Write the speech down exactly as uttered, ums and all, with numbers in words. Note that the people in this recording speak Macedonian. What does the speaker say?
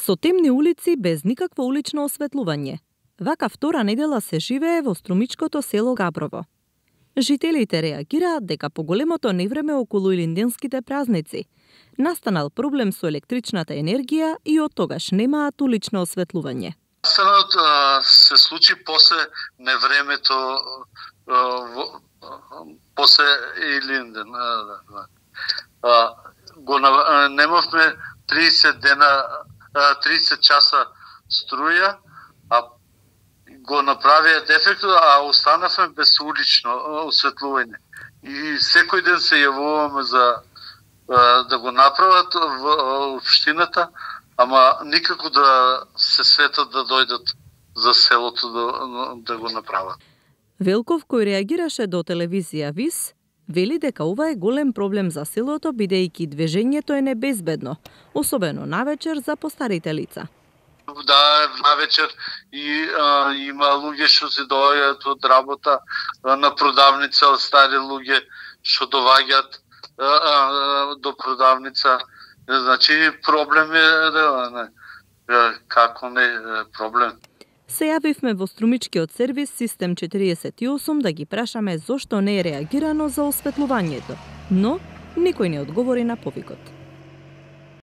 Со темни улици без никакво улично осветлување. Вака втора недела се живее во струмичкото село Габрово. Жителите реагираат дека по големото невреме околу илинденските празници настанал проблем со електричната енергија и од тогаш немаат улично осветлување. Настанот се случи после невремето, после Илинден. Го немавме триесет дена, триесет часа струја, а го направија дефектот, а останавме без улично осветлување. И секој ден се јавуваме за да го направат во општината, ама никако да се светат да дојдат за селото да, да го направат. Велков, кој реагираше до телевизија ВИС, вели дека ова е голем проблем за селото, бидејќи движењето е небезбедно, особено навечер за постарите лица. Да, навечер и а, има луѓе што се доаѓаат од работа а, на продавница, од стари луѓе што доваѓаат а, а, до продавница. Значи проблем е, да, не, како не проблем. Се јавивме во струмичкиот сервис Систем четириесет и осум да ги прашаме зошто не е реагирано за осветлувањето, но никој не одговори на повикот.